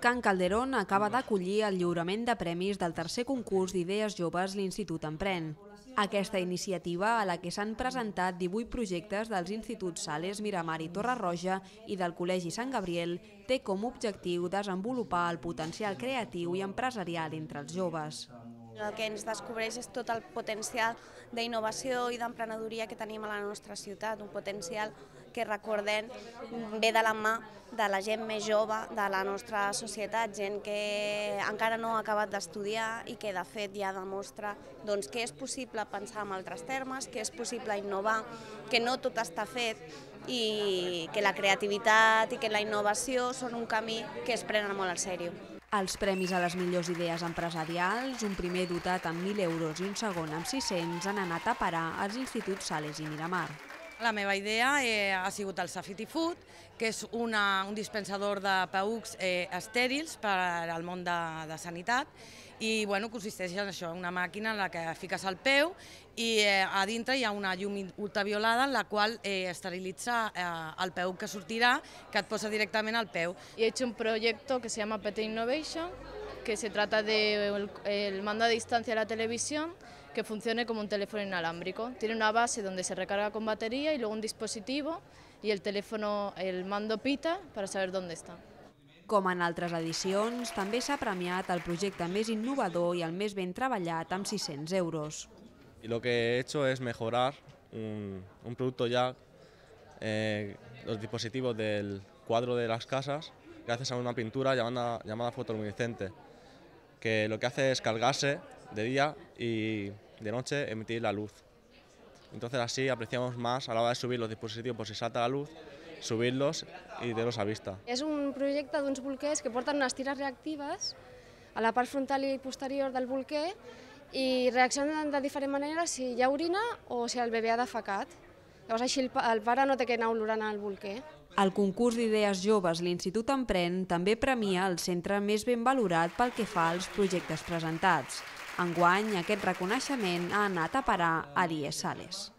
Can Calderón acaba d'acollir el lliurament de premis del tercer concurs d'idees joves l'Institut Emprèn. Aquesta iniciativa, a la que s'han presentat 18 projectes dels instituts Sales, Miramar i Torre Roja i del Col·legi Sant Gabriel, té com a objectiu desenvolupar el potencial creatiu i empresarial entre els joves. El que ens descobreix és tot el potencial d'innovació i d'emprenedoria que tenim a la nostra ciutat, un potencial que, recordem, ve de la mà de la gent més jove de la nostra societat, gent que encara no ha acabat d'estudiar i que de fet ja demostra que és possible pensar en altres termes, que és possible innovar, que no tot està fet i que la creativitat i que la innovació són un camí que es prenen molt en sèrio. Els premis a les millors idees empresarials, un primer dotat amb 1.000 euros i un segon amb 600, han anat a parar als instituts Sales i Miramar. La meva idea ha sigut el Safety Food, que és un dispensador de PEUCs estèrils per al món de sanitat i consisteix en això, una màquina en la que fiques el peu i a dintre hi ha una llum ultraviolada en la qual esterilitza el peu que sortirà, que et posa directament al peu. He hecho un proyecto que se llama PT Innovation, que se trata del mando a distancia de la televisión que funcione como un teléfono inalámbrico. Tiene una base donde se recarga con batería y luego un dispositivo y el mando pita para saber dónde está. Com en altres edicions, també s'ha premiat el projecte més innovador i el més ben treballat amb 600 euros. Y lo que he hecho es mejorar un producto ya, los dispositivos del cuadro de las casas, gracias a una pintura llamada fotoluminiscente, que lo que hace es cargarse de día y de noche emitir la luz. Entonces así apreciamos más a la hora de subir los dispositivos por si salta la luz, subirlos i tenir-los a vista. És un projecte d'uns bolquers que porten unes tires reactives a la part frontal i posterior del bolquer i reaccionen de diferent manera si hi ha orina o si el bebè ha defecat. Llavors així el pare no té que anar olorant al bolquer. El concurs d'idees joves l'Institut Emprèn també premia el centre més ben valorat pel que fa als projectes presentats. Enguany, aquest reconeixement ha anat a parar a l'IES Sales.